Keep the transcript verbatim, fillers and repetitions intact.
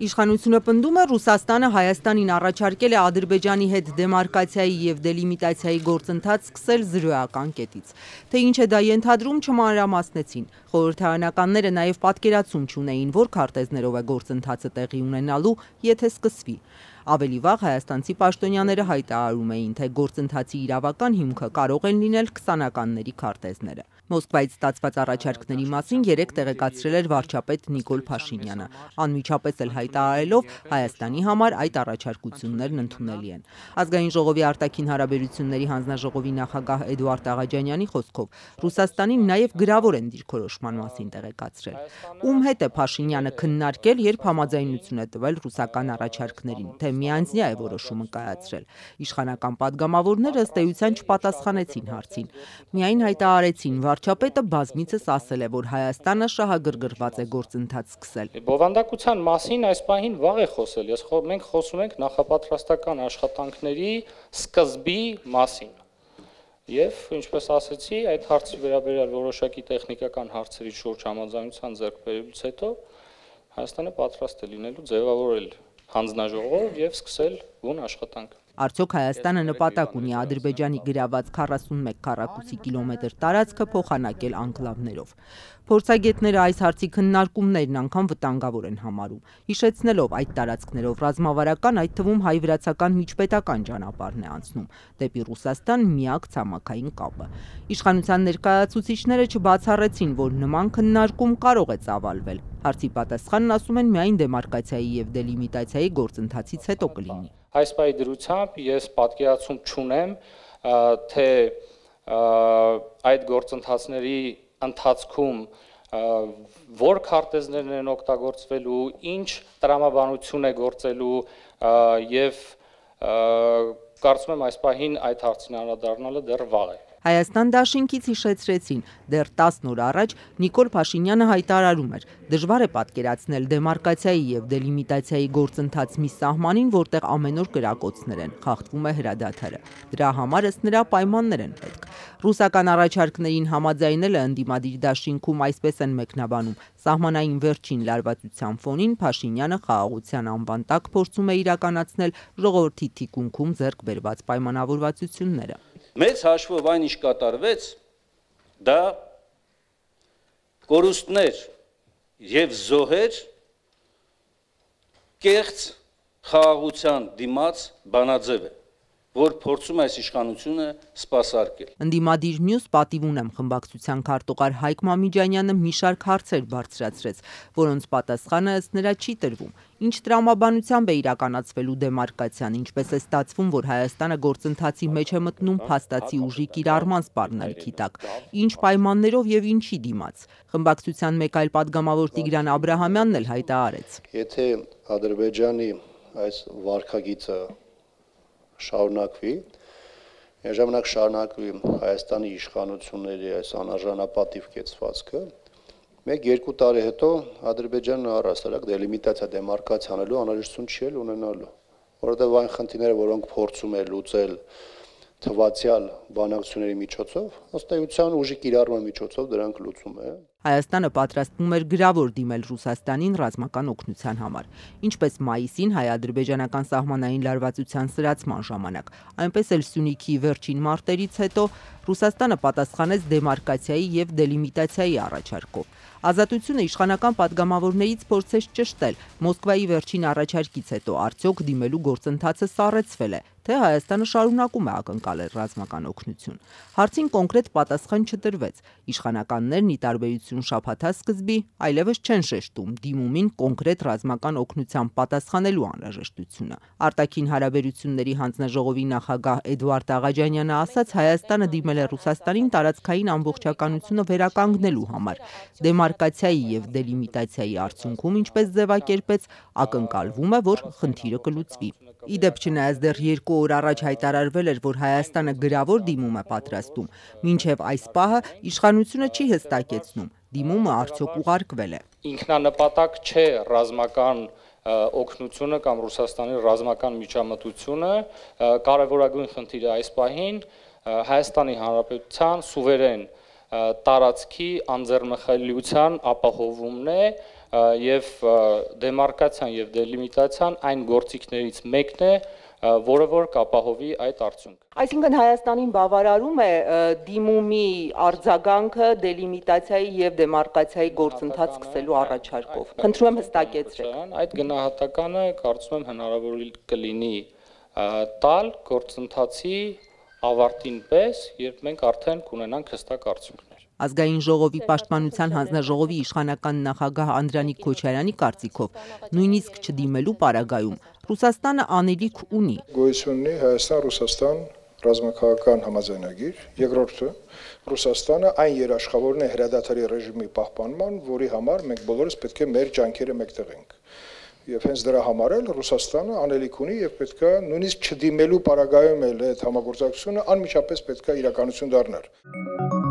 Իշխանությունը պնդում է Ռուսաստանը Հայաստանին առաջարկել է Ադրբեջանի հետ դեմարկացիայի և դելիմիտացիայի գործընթաց սկսել զրոյական կետից։ Թե ինչ է դա ենթադրում, չմանրամասնեցին։ Խորհրդարանականները նաև պատկերացում չունեին, որ քարտեզներով է գործընթացը տեղի ունենալու, եթե սկսվի։ Ավելի վաղ հայաստանցի պաշտոնյաները հայտարարում էին, թե գործընթացի իրավական հիմքը կարող են լինել քսանականների քարտեզները։ Մոսկվայից ստացված առաջարկների մասին երեկ տեղեկացրել էր վարչապետ Նիկոլ Փաշինյանը, անմիջապես էլ հայտարարելով Հայաստանի համար այդ առաջարկություններն ընդունելի են։ Ազգային ժողովի արտաքին հարաբերությունների հանձնաժողովի նախագահ Էդուարդ Աղաջանյանի խոսքով Ռուսաստանին նաև գրավոր են դիրքորոշման մասին տեղեկացրել։ Ում հետ է Փաշինյանը քննարկել, երբ համաձայնություն է տվել ռուսական առաջարկներին, թե միանձնյա է որոշումը կայացրել։ Իշխանական падգամավորները ըստ էության չպատասխանեցին հարցին։ Միայն հայտարարեցին, վարչապետը բազմիցս ասել է, որ Հայաստանը շահագրգռված է գործընթաց սկսել։ Բովանդակության մասին այս պահին վաղ է խոսել։ Ես մենք խոսում ենք նախապատրաստական աշխատանքների սկզբի մասին։ Եվ ինչպես ասեցի, այդ հարցի վերաբերյալ որոշակի տեխնիկական հարցերի շուրջ համաձայնության ձեռքբերումից հետո Հայաստանը պատրաստ է լինելու ձևավորել հանձնաժողով եւ սկսել բուն աշխատանք։ Արդյոք Հայաստանը նպատակ ունի Ադրբեջանի գրաված քառասունմեկ քառակուսի կիլոմետր տարածքը փոխանակել անկլավներով։ Փորձագետները այս հարցի քննարկումներն անգամ վտանգավոր են համարում, հիշեցնելով այդ տարածքներով ռազմավարական, այդ թվում հայ-վրացական միջպետական ճանապարհն է անցնում դեպի Ռուսաստան միակ ցամաքային կապը։ Իշխանության ներկայացուցիչները չբացառեցին, որ նման քննարկում կարող է ծավալվել։ Հարցի պատասխանն, ասում են, միայն դեմարկացիայի եւ դելիմիտացիայի գործընթացից հետո կլինի։ Այս պահի դրությամբ ես պատկերացում չունեմ, թե այդ գործընթացների ընթացքում որ քարտեզներն են օգտագործվելու, ինչ տրամաբանություն է գործելու եւ կարծում եմ այս պահին այդ հարցին անդրադառնալը դեռ վաղ է։ Հայաստան դաշինքից հիշեցրեցին, դեռ տասն օր առաջ Նիկոլ Փաշինյանը հայտարարում էր, դժվար է պատկերացնել դեմարկացիայի եւ դելիմիտացիայի գործընթաց մի սահմանին, որտեղ ամեն օր կրակոցներ են, խախտվում է հրադադարը։ Դրա համար ըստ նրա պայմաններ են պետք։ Ռուսական առաջարկներին համաձայնելը ընդդիմադիր դաշինքում այսպես են մեկնաբանում։ Սահմանային վերջին լարվածության ֆոնին Փաշինյանը խաղաղության անվան տակ փորձում է իրականացնել ժողովրդի թիկունքում ձեռք բերված պայմանավորվածությունները։ Մեծ հաշվով այն ինչ կատարվեց, դա կորուստներ եւ զոհեր կեղծ խաղաղության դիմաց բանաձև է, որ փորձում է այս իշխանությունը սպասարկել։ Ընդդիմադիր մյուս պատիվ ունեմ խմբակցության քարտուղար Հայկ Մամիջանյանը մի շարք հարցեր բարձրացրեց, որոնց պատասխանը ըստ նրա չի տրվում։ Ինչ տրամաբանությամբ է իրականացվելու դեմարկացիան, ինչպես է ստացվում, որ Հայաստանը գործընթացի մեջ է մտնում փաստացի ուժի կիրառման սպառնալիքի տակ, ինչ պայմաններով եւ ինչի դիմաց։ Խմբակցության մեկ այլ падգամավոր Տիգրան Աբրահամյանն էլ հայտարարեց. Եթե Ադրբեջանի այս վարքագիծը շարունակվի, միաժամանակ շարունակվի Հայաստանի իշխանությունների այս անարժանապատիվ կեցվածքը, մեկ-երկու տարի հետո Ադրբեջանը առհասարակ դելիմիտացիա դեմարկացիա անելու անհրաժեշտություն չի էլ ունենալու, որովհետև այն խնդիրները, որոնք փորձում է լուծել թվացյալ բանակցությունների միջոցով, ըստ էության ուժի կիրառման միջոցով դրանք լուծում է։ Հայաստանը պատրաստվում էր գրավոր դիմել Ռուսաստանին ռազմական օգնության համար, ինչպես մայիսին հայ-ադրբեջանական սահմանային լարվածության սրացման ժամանակ, այնպես էլ Սյունիքի վերջին մարտերից հետո Ռուսաստանը պատասխանեց դեմարկացիայի եւ դելիմիտացիայի առաջարկով։ Ազատությունը իշխանական падգամավորներից փորձեց ճշտել Մոսկվայի վերջին առաջարկից հետո արդյոք դիմելու գործընթացը սառեցվել է, թե Հայաստանը շարունակում է ակնկալել ռազմական օգնություն։ Հարցին կոնկրետ պատասխան չտրվեց։ Իշխանականներն ի տարբերություն շաբաթասկզբի այլևս չեն շեշտում դիմումին կոնկրետ ռազմական օգնության պատասխանելու անհրաժեշտությունը։ Արտաքին հարաբերությունների հանձնաժողովի նախագահ Էդուարդ Աղաջանյանը ասաց, Հայաստանը դիմել է Ռուսաստանին տարածքային ամբողջականությունը վերականգնելու համար։ Դեմարկացիայի եւ դելիմիտացիայի արդյունքում, ինչպես ձևակերպեց, ակնկալվում է, որ խնդիրը կլուծվի։ Իդեպ չնայած դեռ երկու օր առաջ հայտարարվել էր, որ Հայաստանը գրավոր դիմում է պատրաստում, մինչև այս պահը իշխանությունը չի հստակեցնում, դիմումը արդյոք ուղարկվել է։ Ինքնանպատակ չէ ռազմական օգնությունը կամ Ռուսաստանի ռազմական միջամտությունը, կարևորագույն խնդիրը այս պահին Հայաստանի Հանրապետության սուվերեն տարածքի անձեռնմխելիության ապահովումն է, եւ դեմարկացիան եւ դելիմիտացիան այն գործիքներից մեկն է, որը որ կապահովի այդ արդյունքը։ Այսինքն Հայաստանին բավարարում է դիմումի արձագանքը դելիմիտացիայի եւ դեմարկացիայի գործընթաց սկսելու առաջարկով։ Խնդրում եմ հստակեցրեք։ Այդ գնահատականը կարծում եմ հնարավոր կլինի տալ գործընթացի ավարտին պես, երբ մենք արդեն կունենանք հստակ արդյունքներ։ Ազգային ժողովի պաշտպանության հանձնաժողովի իշխանական նախագահ Անդրանիկ Քոչարյանի կարծիքով, նույնիսկ չդիմելու պարագայում Ռուսաստանը անելիք ունի։ Գոյություն ունի Հայաստան-Ռուսաստան ռազմաքաղաքական համաձայնագիր, երկրորդը Ռուսաստանը այն երաշխավորն է հրադադարի ռեժիմի պահպանման, որի համար մենք բոլորս պետք է մեր ջանքերը մեկտեղենք։ Եվ հենց դրա համար էլ Ռուսաստանը անելիք ունի եւ պետք է նույնիսկ չդիմելու պարագայում էլ այդ համագործակցությունը անմիջապես պետք է իրականություն դառնալ։